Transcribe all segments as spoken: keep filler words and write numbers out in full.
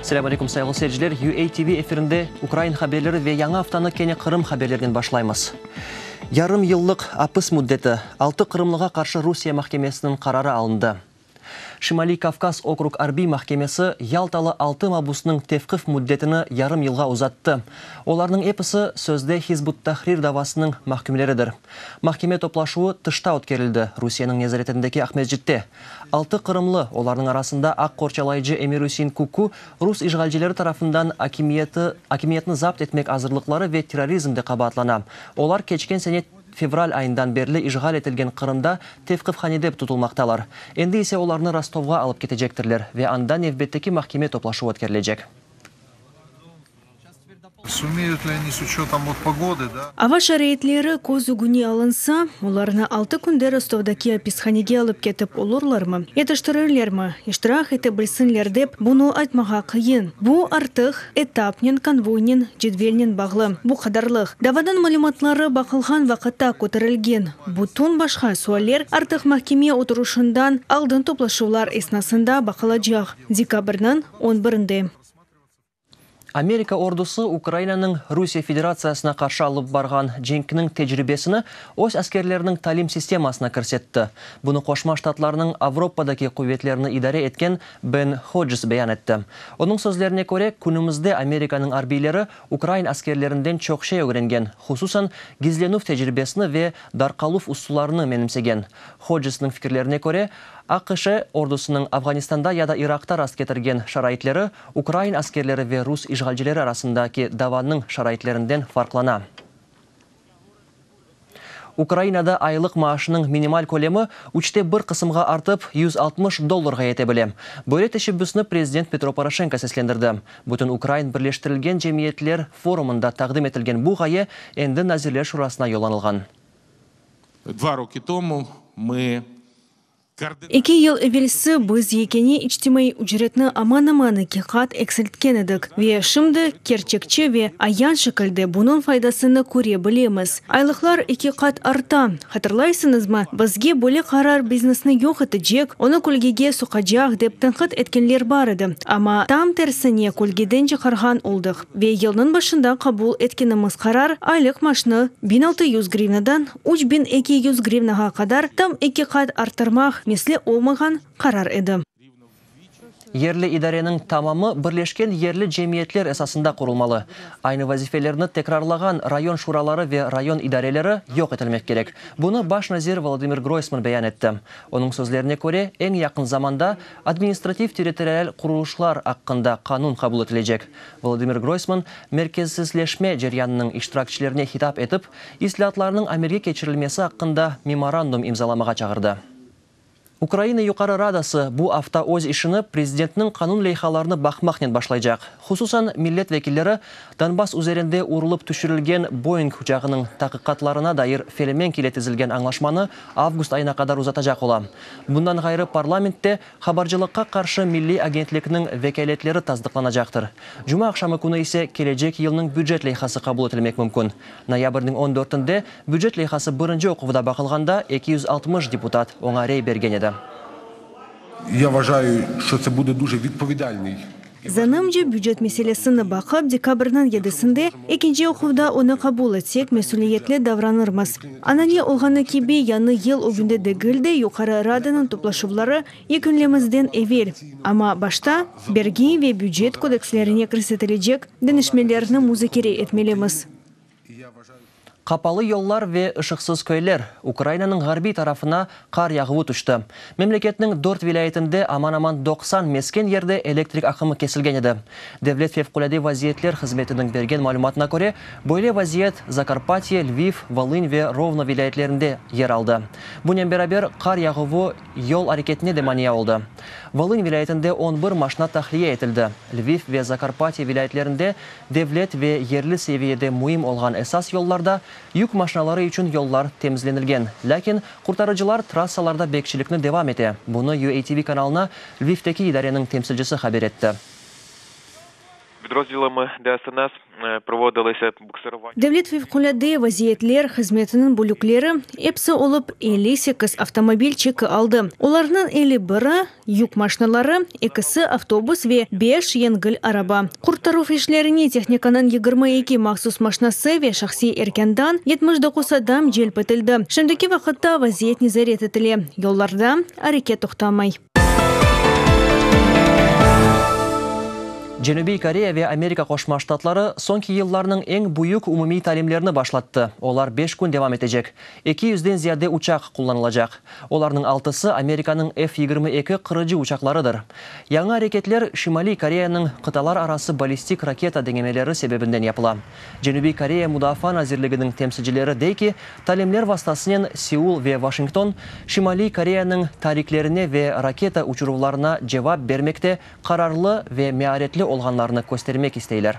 Selâm aleyküm, sayğılı seyirciler. U A T V efirinde ukrain haberleri ve yañı aftanı kene Qırım haberlerinen başlaymız. Yarım yıllıq apis müddeti, altı qırımlığa qarşı Rusiye mahkemesiniñ qararı alındı. Şimaliy Kavkaz okrug arbiy mahkemesi Yaltalı altı mabusnıñ tevqif müddetini yarım yılğa uzattı. Olarnıñ episi sözde Hizb ut-Tahrir davasınıñ mahkümleridir. Mahkeme toplaşuvı tışta ötkerildi, Rusiyeniñ nezaretindeki Aqmescitte. Altı qırımlı, olarnıñ arasında aq qorçalayıcı Emir-Üsein Kuku, rus işğalcileri tarafından akimiyeti, akimiyetni zapt etmek azırlıqları ve terrorizmde qabaatlana. Olar keçken sene fevral ayından berli işğal etilgen Qırımda tevqifhanede tutulmaqtalar. Endi ise olarnı Rostovğa alıp ketecektirler ve anda nevbetteki mahkeme toplaşuvı ötkerilecek. Сумеют ли они с учетом вот погоды, да? Ava şaraitleri köz ögüne alınsa, olarnı altı künde Rostovdaki apishanege alıp ketip olurlarmı, yetiştirirlermi, iştirak ete bilsinler dep, bunı aytmağa qıyın. Bu artıq etapnen, konvoynen, cedvelnen bağlı. Bu qadarlıq. Davanıñ malümatları baqılğan vaqıtta köterilgen bütün başqa sualler artıq mahkeme oturışından aldın toplaşuvlar esnasında baqılacaq. Dekabrniñ on birinde. Amerika ordusı Ukrainanıñ Rusiye Federatsiyasına qarşı alıp barğan cenkiniñ tecribesini öz askerleriniñ talim sistemasına kirsetti. Bunı Qoşma Ştatlarnıñ Avropadaki quvetlerini idare etken Ben Hodges beyan etti. Onıñ sözlerine köre, künümizde Amerikanıñ arbiyleri ukrain askerlerinden çoq şey ögrengen, hususan gizlenüv tecribesini ve darqaluv usullarını menimsegen. Hodgesniñ fikirlerine köre, A Q Ş ordusınıñ Afğanistanda ya da Iraqta rastketirgen şaraitleri ukrain askerleri ve rus işğalcileri arasındaki davanıñ şaraitlerinden farqlana. Ukrainada aylıq maaşınıñ minimal kölemi üçte bir qısımğa artıp yüz altmış dollarğa yete bile. Böyle teşebbüsni prezident Petro Poroşenko seslendirdi. Bütün Ukrain birleştirilgen cemiyetler forumında taqdim etilgen bu ğaye endi Nazirler Şurasına yollanılğan. Два роки тому ми Eki yıl evelsi biz yekâne içtimaiy ücretni aman-aman eki qat eksiltken edik. Ve şimdi kerçekçi ve ayan şekilde bunıñ faydasını köre bilemiz. Aylıqlar eki qat arta. Hatırlaysıñızmı, bizge böyle qarar biznesni yoq etecek, onı kölgege soqacaq dep tenqit etkenler bar edi. Amma tam tersine kölgeden çıqarğan oldıq. Ve yılnıñ başında qabul etkenimiz qarar aylıq maaşnı biñ altı yüz grivnadan üç biñ eki yüz grivnağa qadar tam eki qat arttırmaq misli olmağan qarar edi. Yerli idareniñ tamamı birleşken yerli cemiyetler esasında qurulmalı. Aynı vazifelerni tekrarlağan rayon şuraları ve rayon idareleri yoq etilmek kerek. Bunı baş nazir Volodımır Groysman beyan etti. Onıñ sözlerine köre, eñ yaqın zamanda administrativ-territorial qurulışlar aqqında qanun qabul etilecek. Volodımır Groysman merkezsizleşme ceryanınıñ iştirakçilerine hitap etip, islâatlarnıñ amelge keçirilmesi aqqında memorandum imzalamağa çağırdı. Ukraina Yuqarı Radası bu afta öz işini prezidentniñ qanun leyhalarını baqmaqnen başlaycaq. Hususan millet vekilleri Donbass üzerinde urulıp tüşürilgen Boeing uçağınıñ taqiqatlarına dair Felemenk ile tizilgen añlaşmanı avgust ayına qadar uzatacaq ola. Bundan ğayrı parlamentte habarcılıqqa qarşı milliy agentlikniñ vekâletleri tasdıqlanacaqtır. Cuma aqşamı künü ise kelecek yılnıñ bücet leyhası qabul etilmek mümkün. Noyabrniñ on dörtünde bücet leyhası birinci oquvda baqılğanda eki yüz altmış deputat oña rey bergen edi. Я вважаю, що це буде дуже відповідальний. Zanımca, bücet meselesini baqıp, dekabrniñ yedisinde ekinci oquvda onı qabul etsek, mesüliyetli davranırmız. Anane olğanı kibi, yañı yıl ögünde degil de, Yuqarı Radanıñ toplaşuvları yekünlemezden evel. Amma başta bergi ve bücet kodekslerine kirsetilecek deñişmelerni muzakere etmelimiz. Qapalı yollar ve ışıqsız köyler. Ukrainanıñ ğarbiy tarafına qar yağuvı tüşti. Memleketniñ dört vilâyetinde aman-aman doqsan mesken yerde elektrik aqımı kesilgen edi. Devlet fevqulâde vaziyetler hızmetiniñ bergen malümatına köre, böyle vaziyet Zakarpatye, Lviv, Volın ve Rovno vilâyetlerinde yer aldı. Bunen beraber qar yağuvı yol areketine de mania oldı. Volın vilâyetinde on bir maşina tahliye etildi. Lviv ve Zakarpatye vilâyetlerinde devlet ve yerli seviyede müim olğan esas yollarda yük maşinaları içün yollar temizlenilgen. Lâkin qurtarıcılar trassalarda bekçilikni devam ete. Bunı U A T V kanalına Lvivdeki idareniñ temsilcisi haber etti. Підрозділами Д С Н С проводилися буксирування. Devlet fevqulâde vaziyetler hızmetiniñ bölükleri episi olıp elli sekiz avtomobil çeki aldı. Olarnıñ elli biri yük maşinaları, ekisi avtobus ve beş yengil araba. Qurtaruv işlerine tehnikanıñ yigirmi eki mahsus maşinası ve şahsiy erkândan yetmiş doquz adam celp etildi. Şimdiki vaqıtta vaziyet nezaret etile. Yollarda areket toqtamay. Cenübiy Koreya ve Amerika Qoşma Ştatları soñki yıllarnıñ eñ büyük umumiy talimlerini başlattı. Olar beş kün devam etecek. Eki yüzden ziyade uçaq qullanılacaq. Olarnıñ altısı Amerikanıñ F yigirmi eki qırıcı uçaqlarıdır. Yañı areketler Şimaliy Koreyanıñ qıtalar arası ballistik raketa deñemeleri sebebinden yapıla. Cenübiy Koreya Mudafaa nazirliginiñ temsilcileri dey ki, talimler vastasınen Seul ve Washington Şimaliy Koreyanıñ tariklerine ve raketa uçuruvlarına cevap bermekte qararlı ve mearetli olğanlarını köstermek isteyler.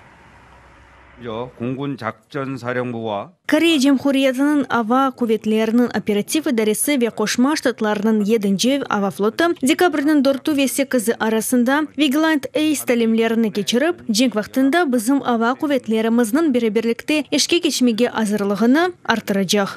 Koreya Cumhuriyetiniñ Ava quvetleriniñ operativ idaresi ve Qoşma Ştatlarnıñ yedinci ava flotu dekabrniñ dörtü ve sekizi arasında Vigilant Ace talimlerini keçirip, cenk vaqtında bizim ava quvetlerimizniñ beraberlikte işke keçmege azırlığını arttıracaq.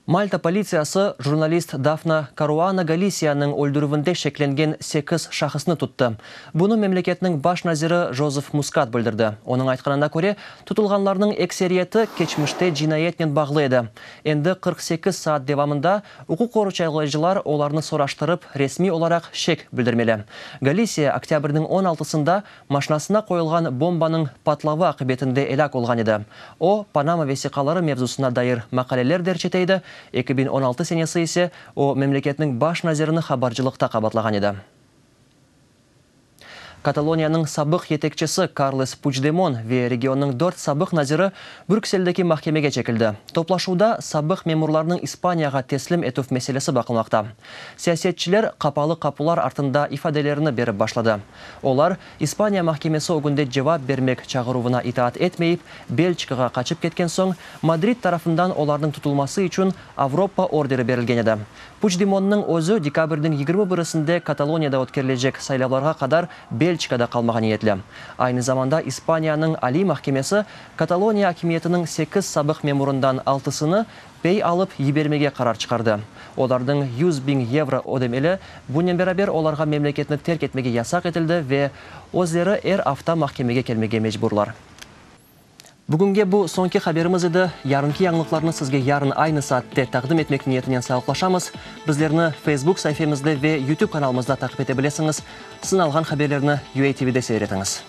Malta politsiyası jurnalist Dafna Karuana Galisiyanıñ öldürüvinde şeklengen sekiz şahısnı tuttı. Bunı memleketniñ baş naziri Jozef Muskat bildirdi. Onıñ aytqanına köre, tutulğanlarnıñ ekseriyeti keçmişte cinayetnen bağlı edi. Endi qırq sekiz saat devamında uquq qorçalayıcılar olarnı soraştırıp, resmiy olaraq şek bildirmeli. Galisiya oktâbrniñ on altısında maşinasına qoyulğan bombanıñ patlavı aqibetinde elâk olğan edi. O, Panama vesiqaları mevzusına dair maqaleler derc ete edi. eki biñ on altı senesi ise o, memleketniñ baş nazirini habarcılıqta qabatlağan edi. Kataloniyanıñ sabıq yetekçisi Karles Puçdemon ve regionnıñ dört sabıq naziri Brükseldeki mahkemege çekildi. Toplaşuvda sabıq memurlarnıñ İspaniyağa teslim etüv meselesi baqılmaqta. Siyasetçiler qapalı qapular artında ifadelerini berip başladı. Olar İspaniya mahkemesi ögünde cevap bermek çağıruvına itaat etmeyip, Belçikağa qaçıp ketken soñ Madrid tarafından olarnıñ tutulması içün Avropa orderi berilgen edi. Puçdemonnıñ özü dekabrniñ yigirmi birisinde Kataloniyada ötkerilecek saylavlarğa qadar Belçikada qalmağa niyetli. Aynı zamanda İspaniyanıñ Aliy mahkemesi Kataloniya akimiyetiniñ sekiz sabıq memurından altısını pey alıp yibermege qarar çıqardı. Olarnıñ yüz biñ yevro ödemeli, bunen beraber olarğa memleketni terk etmege yasaq etildi ve özleri er afta mahkemege kelmege mecburlar. Bugünge bu soñki haberimiz edi. Yarınki yañılıqlarnı sizge yarın aynı saatte taqdim etmek niyetinen sağlıqlaşamız. Bizlerni Facebook sayfamızda ve YouTube kanalımızda taqip ete bilesiñiz. Sınalğan haberlerni U A T V'de seyir etiñiz.